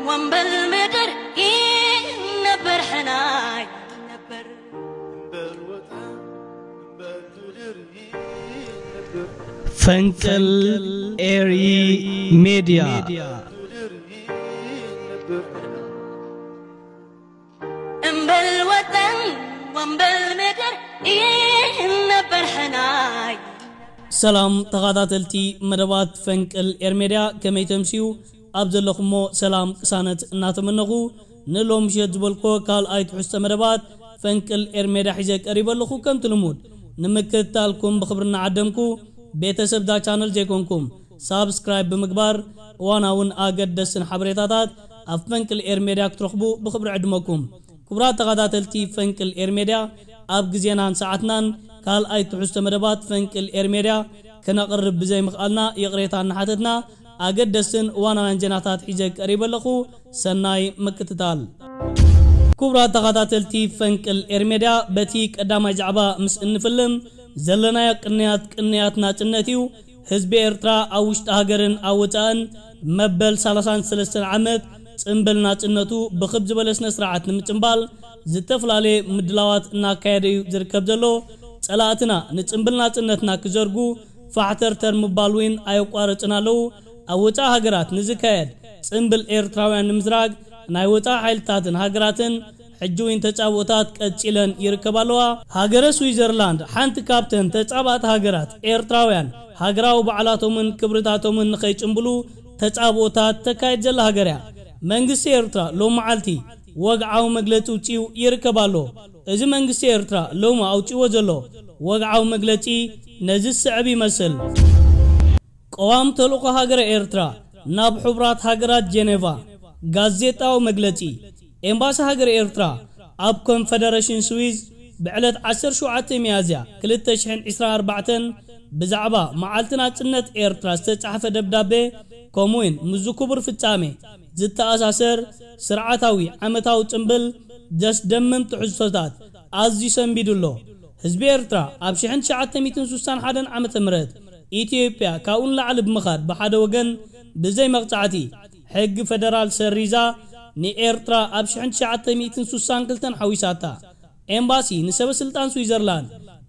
ወንበል ምድር ይነበር ሕናይ ነበር። ፈንቅል ኤሪ ሜድያ። እምበል ወጠን ወንበል ምድር ይነበር ሕናይ። ሰላም ተኸታተልቲ መደባት ፈንቅል ኤር ሜድያ፣ ከመይ ተምስዩ? ኣብ ዘለኹሞ ሰላም ቅሳነት እናተመነኹ፣ ንሎም ምሸት ዝበልኮ ካልኣይ ትሕዝቶ መደባት ፈንቅል ኤር ሜድያ ሒዘ ቀሪበ ኣለኹ። ከምቲ ልሙድ ንምክትታልኩም ብኽብሪ እናዓደምኩ፣ ቤተሰብ እዛ ቻነል ዘይኮንኩም ሳብስክራይብ ብምግባር እዋናውን ኣገደስን ሓበሬታታት ኣብ ፈንቅል ኤር ሜድያ ክትረኽቡ ብኽብሪ ዕድመኩም። ክቡራት ተኸታተልቲ ፈንቅል ኤር ሜድያ፣ ኣብ ግዜናን ሰዓትናን ካልኣይ ትሕዝቶ መደባት ፈንቅል ኤር ሜድያ ክነቕርብ ብዘይምኽኣልና ይቕሬታ እናሓተትና፣ ኣገደስትን እዋናውያን ዜናታት ሒዘ ቀሪበ ኣለኹ። ሰናይ ምክትታል። ክቡራት ተኸታተልቲ ፈንቅል ኤር ሜድያ፣ በቲ ቀዳማይ ዛዕባ ምስ እንፍልም፣ ዘለናዮ ቅንያት ቅንያት ናጽነት እዩ። ህዝቢ ኤርትራ ኣብ ውሽጢ ሃገርን ኣብ ወጻእን መበል ሰላሳን ሰለስተን ዓመት ጽምብል ናጽነቱ ብኽብ ዝበለ ስነ ስርዓት ንምጽምባል ዝተፈላለየ ምድላዋት እናካየደ እዩ ዝርከብ ዘሎ። ጸላእትና ንጽምብል ናጽነትና ክዘርጉ ፋሕተርተር ምባል እውን ኣየቋረጽን ኣለዉ። ኣብ ወጻኢ ሃገራት ንዝካየድ ጽምብል ኤርትራውያን ንምዝራግ ናይ ወጻኢ ሓይልታትን ሃገራትን ሕጂ እውን ተጻብኦታት ቀጺለን ይርከባ ኣለዋ። ሃገረ ስዊዘርላንድ ሓንቲ ካብተን ተጻባእቲ ሃገራት ኤርትራውያን ሃገራዊ በዓላቶምን ክብርታቶምን ንኸይጽምብሉ ተጻብኦታት ተካይድ ዘላ ሃገር እያ። መንግስቲ ኤርትራ ሎም መዓልቲ ወግዓዊ መግለጺ ውጺኡ ይርከብ ኣሎ። እዚ መንግስቲ ኤርትራ ሎሚ ኣውጺዎ ዘሎ ወግዓዊ መግለጺ ነዚ ዝስዕብ ይመስል። ቀዋም ተልእኾ ሃገረ ኤርትራ ናብ ሕቡራት ሃገራት ጀኔቫ። ጋዜጣዊ መግለጺ። ኤምባሲ ሃገረ ኤርትራ ኣብ ኮንፈደረሽን ስዊዝ ብዕለት ዓሰርተ ሸውዓተ ሚያዝያ ክልተ ሽሕን ዕስራን ኣርባዕተን ብዛዕባ መዓልቲ ናጽነት ኤርትራ ዝተጻሕፈ ደብዳቤ፣ ከምኡውን ምስዚ ክቡር ፍጻሜ ዝተኣሳሰር ስርዓታዊ ዓመታዊ ጽምብል ዘስደምም ትሕዝቶታት ኣዝዩ ሰንቢዱ ኣሎ። ህዝቢ ኤርትራ ኣብ ሽሕን ትሽዓተ ሚእትን ስሳን ሓደን ዓመተ ምህረት ኢትዮጵያ ካብኡ ንላዕሊ ብምኻድ ብሓደ ወገን ብዘይ መቕጻዕቲ ሕጊ ፈደራል ሰሪዛ ንኤርትራ ኣብ ሽሕን ትሽዓተ ሚእትን ስሳን ክልተን ሓዊሳታ። ኤምባሲ ንሰበ ስልጣን ስዊዘርላንድ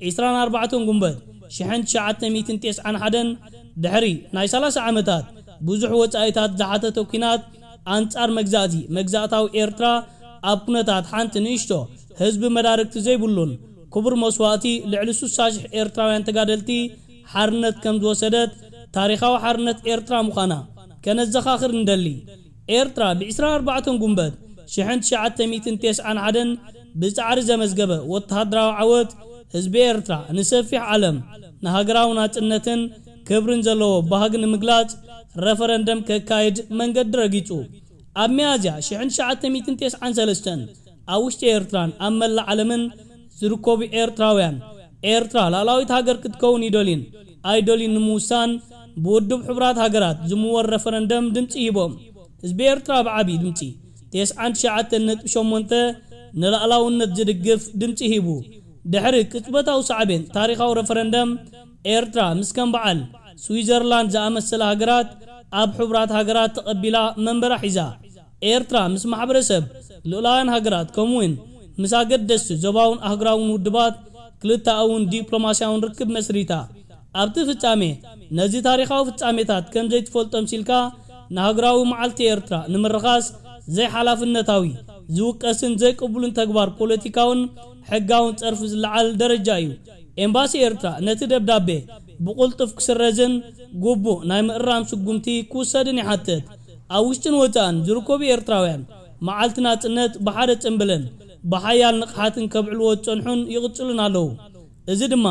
ዕስራን ኣርባዕተን ጉንበት ሽሕን ትሽዓተ ሚእትን ተስዓን ሓደን ድሕሪ ናይ ሰላሳ ዓመታት ብዙሕ ወጻኢታት ዝሓተተ ኲናት ኣንጻር መግዛእቲ መግዛእታዊ ኤርትራ ኣብ ኩነታት ሓንቲ ንእሽቶ ህዝቢ መዳርግቲ ዘይብሉን ክቡር መስዋእቲ ልዕሊ ስሳ ሽሕ ኤርትራውያን ተጋደልቲ ሓርነት ከም ዝወሰደት ታሪኻዊ ሓርነት ኤርትራ ምዃና ከነዘኻኽር ንደሊ። ኤርትራ ብ ዕስራን ኣርባዕተን ጉንበት ሽሕን ትሽዓተ ሚእትን ተስዓን ሓደን ብጻዕሪ ዘመዝገበ ወተሃደራዊ ዓወት ህዝቢ ኤርትራ ንሰፊሕ ዓለም ንሃገራዊ ናጽነትን ክብርን ዘለዎ ባህጊ ንምግላጽ ረፈረንደም ከካይድ መንገዲ ረጊጹ። ኣብ ሚያዝያ ሽሕን ትሽዓተ ሚእትን ተስዓን ሰለስተን ኣብ ውሽጢ ኤርትራን ኣብ መላእ ዓለምን ዝርከቡ ኤርትራውያን፣ ኤርትራ ላዕላዊት ሃገር ክትከውን ይደልዩን ኣይደልዩን ንምውሳን ብውድብ ሕቡራት ሃገራት ዝምወል ረፈረንደም ድምጺ ሂቦም። ህዝቢ ኤርትራ ብዓቢ ድምጺ፣ ተስዓን ትሽዓተን ነጥቢ ሸሞንተ፣ ንላዕላውነት ዝድግፍ ድምጺ ሂቡ። ድሕሪ ቅጽበታዊ ሳዕቤን ታሪኻዊ ረፈረንደም፣ ኤርትራ ምስ ከም በዓል ስዊዘርላንድ ዝኣመሰላ ሃገራት ኣብ ሕቡራት ሃገራት ተቐቢላ መንበራ ሒዛ። ኤርትራ ምስ ማሕበረሰብ ልኡላውያን ሃገራት ከምኡውን ምስ ኣገደስቲ ዞባውን ኣህጉራውን ውድባት ክልተኣውን ዲፕሎማስያውን ርክብ መስሪታ። ኣብቲ ፍጻሜ ነዚ ታሪኻዊ ፍጻሜታት ከም ዘይትፈልጦ ምሲልካ ንሃገራዊ መዓልቲ ኤርትራ ንምርኻስ ዘይሓላፍነታዊ፣ ዝውቀስን ዘይቅቡልን ተግባር ፖለቲካውን ሕጋውን ጸርፊ ዝለዓል ደረጃ እዩ። ኤምባሲ ኤርትራ ነቲ ደብዳቤ ብቕልጡፍ ክስረዝን ግቡእ ናይ ምእራም ስጉምቲ ክውሰድን ይሓትት። ኣብ ውሽጥን ወጻእን ዝርከቡ ኤርትራውያን መዓልቲ ናጽነት ብሓደ ጽምብልን ብሓያል ንቕሓትን ከብዕልዎ ዝጸንሑን ይቕጽሉን ኣለዉ። እዚ ድማ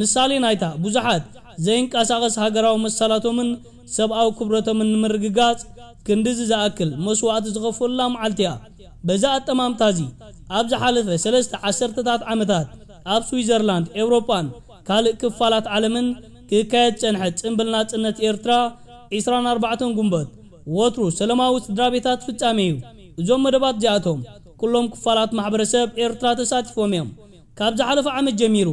ምሳሌ ናይታ ብዙሓት ዘይንቀሳቐስ ሃገራዊ መሰላቶምን ሰብኣዊ ክብረቶምን ንምርግጋጽ ክንድዚ ዝኣክል መስዋእቲ ዝኸፈሉላ መዓልቲ እያ። በዚ ኣጠማምታ እዚ ኣብ ዝሓለፈ ሰለስተ ዓሰርተታት ዓመታት ኣብ ስዊዘርላንድ፣ ኤውሮጳን ካልእ ክፋላት ዓለምን ክካየድ ዝጸንሐ ጽምብል ናጽነት ኤርትራ ዕስራን ኣርባዕተን ጉንበት ወትሩ ሰላማዊ ስድራ ቤታት ፍጻሜ እዩ። እዞም መደባት እዚኣቶም ኩሎም ክፋላት ማሕበረሰብ ኤርትራ ተሳቲፎም እዮም። ካብ ዝሓለፈ ዓመት ጀሚሩ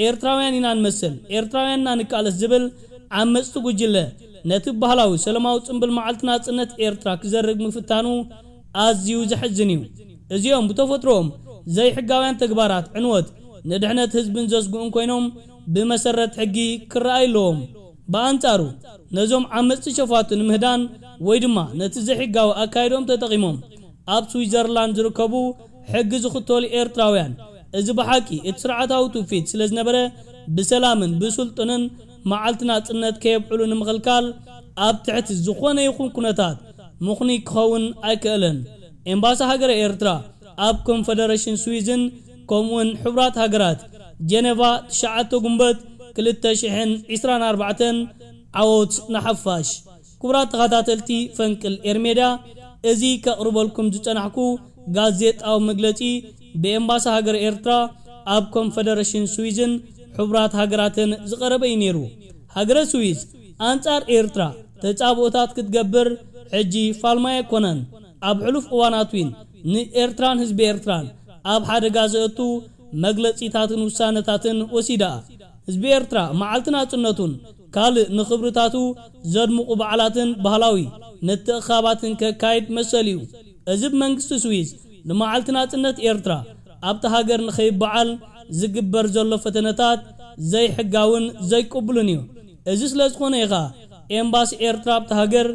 ኤርትራውያን ኢና ንመስል፣ ኤርትራውያን ኢና ንቃለስ ዝብል ዓመጽቲ ጉጅለ ነቲ ባህላዊ ሰላማዊ ጽምብል መዓልቲ ናጽነት ኤርትራ ክዘርግ ምፍታኑ ኣዝዩ ዘሕዝን እዩ። እዚኦም ብተፈጥሮኦም ዘይሕጋውያን ተግባራት ዕንወት ንድሕነት ህዝብን ዘስግኡን ኮይኖም ብመሰረት ሕጊ ክረኣዩ ኣለዎም። ብኣንጻሩ ነዞም ዓመጽቲ ሸፋቱ ንምህዳን ወይ ድማ ነቲ ዘይሕጋዊ ኣካይዶም ተጠቒሞም ኣብ ስዊዘርላንድ ዝርከቡ ሕጊ ዝኽተሉ ኤርትራውያን፣ እዚ ብሓቂ እቲ ስርዓታዊ ትውፊት ስለ ዝነበረ ብሰላምን ብስልጡንን መዓልቲ ናጽነት ከየብዕሉ ንምኽልካል ኣብ ትሕቲ ዝኾነ ይኹን ኩነታት ምኽኑይ ክኸውን ኣይክእልን። ኤምባሲ ሃገረ ኤርትራ ኣብ ኮንፈደረሽን ስዊዝን ከምኡውን ሕቡራት ሃገራት ጀነቫ ትሽዓተ ጉንበት ክልተ ሽሕን ዕስራን ኣርባዕተን። ዓወት ንሓፋሽ። ክቡራት ተኸታተልቲ ፈንቅል ኤርሜድያ፣ እዚ ከቕርበልኩም ዝጸናሕኩ ጋዜጣዊ መግለጺ ብኤምባሲ ሃገር ኤርትራ ኣብ ኮንፈደረሽን ስዊዝን ሕቡራት ሃገራትን ዝቐረበ እዩ ነይሩ። ሃገረ ስዊዝ ኣንጻር ኤርትራ ተጻብኦታት ክትገብር ሕጂ ፋልማይ ኣይኮነን። ኣብ ሕሉፍ እዋናት እውን ንኤርትራን ህዝቢ ኤርትራን ኣብ ሓደጋ ዘእቱ መግለጺታትን ውሳነታትን ወሲዳ። ህዝቢ ኤርትራ መዓልቲ ናጽነቱን ካልእ ንኽብርታቱ ዘድምቑ በዓላትን ባህላዊ ምትእኻባትን ከካይድ መሰል እዩ። እዚ ብመንግስቲ ስዊዝ ንመዓልቲ ናጽነት ኤርትራ ኣብቲ ሃገር ንኸይበዓል ዝግበር ዘሎ ፈተነታት ዘይሕጋውን ዘይቅቡልን እዩ። እዚ ስለ ዝኾነ እዩ ኸኣ ኤምባሲ ኤርትራ ኣብቲ ሃገር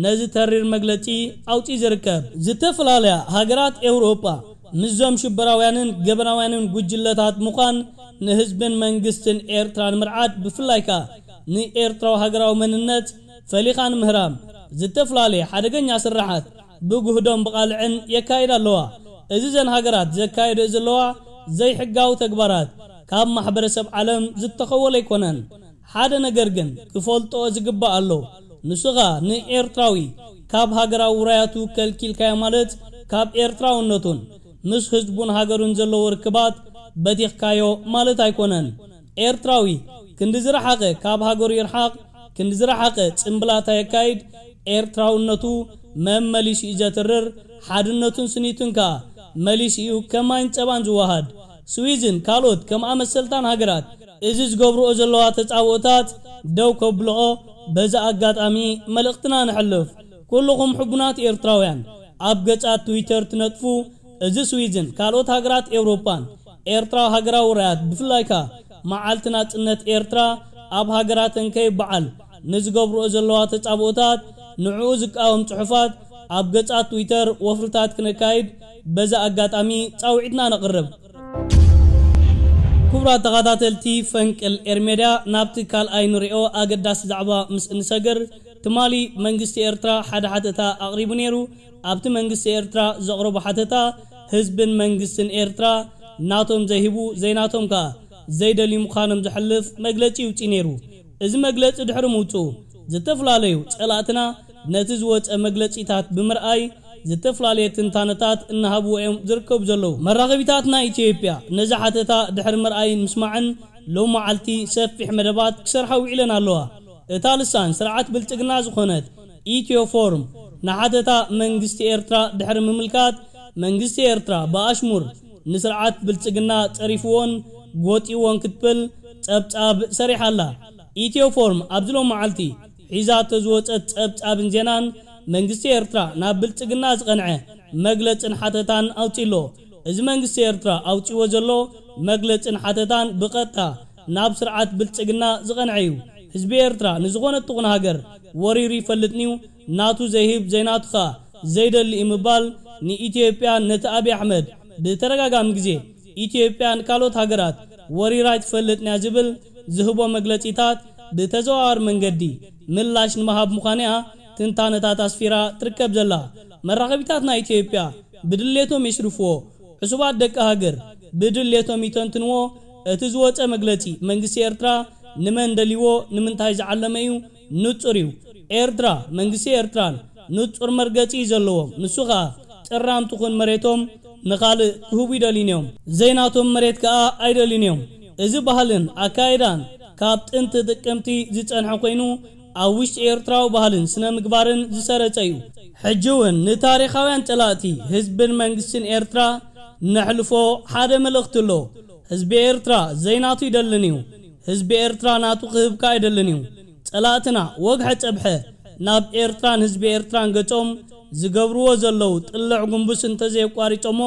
ነዚ ተሪር መግለጺ ኣውጺኡ ዝርከብ። ዝተፈላለያ ሃገራት ኤውሮጳ ምስዞም ሽበራውያንን ገበናውያንን ጉጅለታት ምዃን ንህዝብን መንግስትን ኤርትራ ንምርዓድ፣ ብፍላይ ከኣ ንኤርትራዊ ሃገራዊ መንነት ፈሊኻ ንምህራም ዝተፈላለየ ሓደገኛ ስርሓት ብጉህዶን ብቓልዕን የካይዳ ኣለዋ። እዚ ዘን ሃገራት ዘካየደኦ ዘለዋ ዘይሕጋዊ ተግባራት ካብ ማሕበረሰብ ዓለም ዝተኸወለ ኣይኮነን። ሓደ ነገር ግን ክፈልጦ ዝግባእ ኣሎ። ንሱ ኸኣ ንኤርትራዊ ካብ ሃገራዊ ውራያቱ ከልኪልካዮ ማለት ካብ ኤርትራውነቱን ምስ ህዝቡን ሃገሩን ዘለዎ ርክባት በቲኽካዮ ማለት ኣይኮነን። ኤርትራዊ ክንዲ ዝረሓቐ ካብ ሃገሩ ይርሓቕ፣ ክንዲ ዝረሓቐ ጽምብላታ የካይድ። ኤርትራውነቱ መመሊሱ እዩ ዘትርር፣ ሓድነቱን ስኒቱን ከኣ መሊሱ እዩ ከማይን ጸባን ዝወሃድ። ስዊዝን ካልኦት ከምኣ መሰልታን ሃገራት እዚ ዝገብርኦ ዘለዋ ተጻብኦታት ደው ከብልኦ በዚ ኣጋጣሚ መልእኽትና ነሕልፍ። ኩልኹም ሕቡናት ኤርትራውያን ኣብ ገጻት ትዊተር ትነጥፉ፣ እዚ ስዊዝን ካልኦት ሃገራት ኤውሮጳን ኤርትራ ሃገራዊ ራያት ብፍላይ ከኣ መዓልቲ ናጽነት ኤርትራ ኣብ ሃገራተን ከይበዓል ንዝገብርኦ ዘለዋ ተጻብኦታት ንዕኡ ዝቃወም ጽሑፋት ኣብ ገጻት ትዊተር ወፍርታት ክነካይድ በዚ ኣጋጣሚ ጻውዒትና ነቕርብ። ክቡራት ተኸታተልቲ ፈንቅል ኤርሜድያ፣ ናብቲ ካልኣይ ንሪኦ ኣገዳሲ ዛዕባ ምስ እንሰግር፣ ትማሊ መንግስቲ ኤርትራ ሓደ ሓተታ ኣቕሪቡ ነይሩ። ኣብቲ መንግስቲ ኤርትራ ዘቕረቦ ሓተታ፣ ህዝብን መንግስትን ኤርትራ ናቶም ዘይህቡ ዘይናቶም ከኣ ዘይደልዩ ምዃኖም ዘሕልፍ መግለጺ ይውጽእ ነይሩ። እዚ መግለጺ ድሕሪ ምውጽኡ፣ ዝተፈላለዩ ጸላእትና ነቲ ዝወጸ መግለጺታት ብምርኣይ ዝተፈላለየ ትንታነታት እናሃብዎ እዮም ዝርከቡ ዘለዉ። መራኸቢታት ናይ ኢትዮጵያ ነዚ ሓተታ ድሕሪ ምርኣይን ምስማዕን ሎም መዓልቲ ሰፊሕ መደባት ክሰርሓ ውዒለን ኣለዋ። እታ ልሳን ስርዓት ብልጽግና ዝኾነት ኢትዮ ፎርም ንሓተታ መንግስቲ ኤርትራ ድሕሪ ምምልካት፣ መንግስቲ ኤርትራ ብኣሽሙር ንስርዓት ብልጽግና ጸሪፍዎን ጎጢዎን ክትብል ጸብጻብ ሰሪሓ ኣላ። ኢትዮ ፎርም ኣብዚ ሎም መዓልቲ ሒዛቶ ዝወጸት ጸብጻብን ዜናን፣ መንግስቲ ኤርትራ ናብ ብልጽግና ዝቐንዐ መግለጽን ሓተታን ኣውጺእሎ። እዚ መንግስቲ ኤርትራ ኣውጺእዎ ዘሎ መግለጽን ሓተታን ብቐጥታ ናብ ስርዓት ብልጽግና ዝቐንዐ እዩ። ህዝቢ ኤርትራ ንዝኾነት ትኹን ሃገር ወሪሩ ይፈልጥንዩ፣ ናቱ ዘይህብ ዘይናቱ ኸኣ ዘይደሊ እዩ ምባል ንኢትዮጵያን ነቲ ኣብይ ኣሕመድ ብተደጋጋሚ ግዜ ኢትዮጵያ ንካልኦት ሃገራት ወሪራ ኣይትፈልጥንያ ዝብል ዝህቦ መግለጺታት ብተዘዋዋሪ መንገዲ ምላሽ ንምሃብ ምዃንያ ትንታነታት ኣስፊራ ትርከብ ዘላ። መራኸቢታት ናይ ኢትዮጵያ ብድሌቶም የሽርፍዎ። ዕሱባት ደቂ ሃገር ብድሌቶም ይተንትንዎ። እቲ ዝወጸ መግለጺ መንግስቲ ኤርትራ ንመን ደልይዎ ንምንታይ ዝዓለመ እዩ ንጹር እዩ። ኤርትራ መንግስቲ ኤርትራን ንጹር መርገጺ እዩ ዘለዎም። ንሱ ኸኣ ጥራም ትኹን መሬቶም ንኻልእ ክህቡ ይደልዩን እዮም። ዘይናቶም መሬት ከኣ ኣይደልዩን እዮም። እዚ ባህልን ኣካይዳን ካብ ጥንቲ ጥቅምቲ ዝጸንሐ ኮይኑ ኣብ ውሽጢ ኤርትራዊ ባህልን ስነ ምግባርን ዝሰረጸ እዩ። ሕጂ እውን ንታሪኻውያን ጸላእቲ ህዝብን መንግስትን ኤርትራ ነሕልፎ ሓደ መልእኽቲ ኣሎ። ህዝቢ ኤርትራ ዘይናቱ ይደልን እዩ። ህዝቢ ኤርትራ ናቱ ክህብካ ኣይደልን እዩ። ጸላእትና ወግሐ ጸብሐ ናብ ኤርትራን ህዝቢ ኤርትራን ገጾም ዝገብርዎ ዘለዉ ጥልዕ ጉንቡስ እንተዘየቋሪጾሞ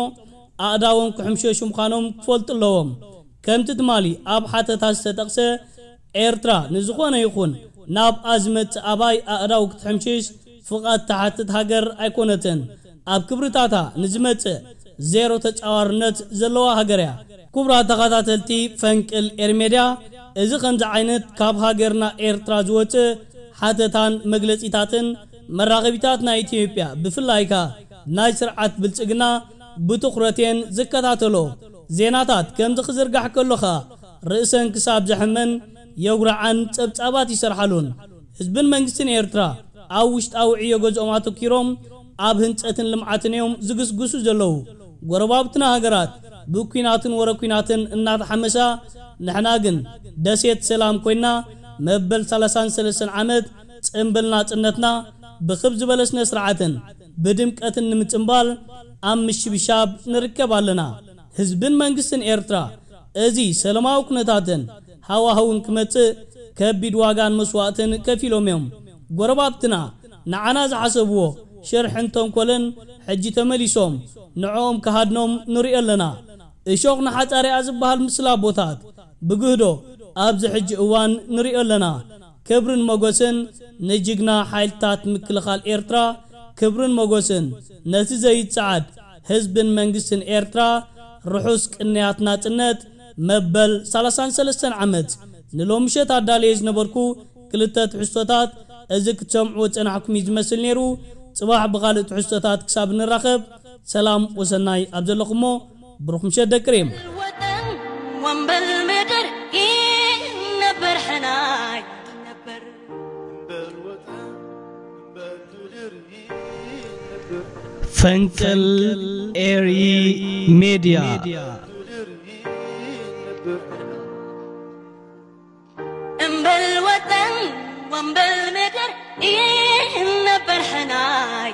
ኣእዳዎም ክሕምሸሹ ምዃኖም ክፈልጡ ኣለዎም። ከምቲ ትማሊ ኣብ ሓተታ ዝተጠቕሰ፣ ኤርትራ ንዝኾነ ይኹን ናብኣ ዝመጽእ ኣባይ ኣእዳው ክትሕምሽሽ ፍቓድ ትሓትት ሃገር ኣይኮነትን። ኣብ ክብርታታ ንዝመጽእ ዜሮ ተጻዋርነት ዘለዋ ሃገር እያ። ክቡራት ተኸታተልቲ ፈንቅል ኤርሜድያ፣ እዚ ከምዚ ዓይነት ካብ ሃገርና ኤርትራ ዝወጽእ ሓተታን መግለጺታትን መራኸቢታት ናይ ኢትዮጵያ፣ ብፍላይ ከኣ ናይ ስርዓት ብልጽግና ብትኹረት እየን ዝከታተሎ። ዜናታት ከምዚ ክዝርጋሕ ከሎ ከኣ ርእሰን ክሳብ ዘሕመን የጉርዓን ጸብጻባት ይሰርሓሉን። ህዝብን መንግስትን ኤርትራ ኣብ ውሽጣዊ ዕዮ ገዝኦም ኣተኪሮም ኣብ ህንጸትን ልምዓትን እዮም ዝግስግሱ ዘለዉ። ጎረባብትና ሃገራት ብኲናትን ወረ ኲናትን እናተሓመሳ፣ ንሕና ግን ደሴት ሰላም ኮይና መበል ሰላሳን ሰለስተን ዓመት ጽምብል ናጽነትና ብኽብ ዝበለ ስነ ስርዓትን ብድምቀትን ንምጽምባል ኣብ ምሽብሻብ ንርከብ ኣለና። ህዝብን መንግስትን ኤርትራ እዚ ሰላማዊ ኩነታትን ሃዋህውን ክመጽእ ከቢድ ዋጋን መስዋእትን ከፊሎም እዮም። ጎረባብትና ንዓና ዝሓሰብዎ ሽርሕን ተንኮልን ሕጂ ተመሊሶም ንዕኦም ክሃድኖም ንሪኦ ኣለና። እሾኽ ንሓጻር እያ ዝበሃል ምስላ ኣቦታት ብግህዶ ኣብዚ ሕጂ እዋን ንሪኦ ኣለና። ክብርን ሞገስን ንጅግና ሓይልታት ምክልኻል ኤርትራ፣ ክብርን ሞገስን ነቲ ዘይጸዓድ ህዝብን መንግስትን ኤርትራ። ርሑስ ቅንያት ናጽነት መበል ሰላሳን ሰለስተን ዓመት። ንሎሚ ምሸት ኣዳልየ ዝነበርኩ ክልተ ትሕዝቶታት እዚ ክትሰምዕዎ ዝጸናሕኩም እዩ ዝመስል ነይሩ። ጽባሕ ብኻልእ ትሕዝቶታት ክሳብ ንራኸብ ሰላም ወሰናይ ኣብ ዘለኹሞ ብሩኽ ምሸት ደቂ ሬም። ወጠን ወንበል ምድር ይነበር ሕናይ ነበር። ፈንቅል ኤሪ ሜድያ። እምበል ወጠን ወንበል ምድር ይነበር ሕናይ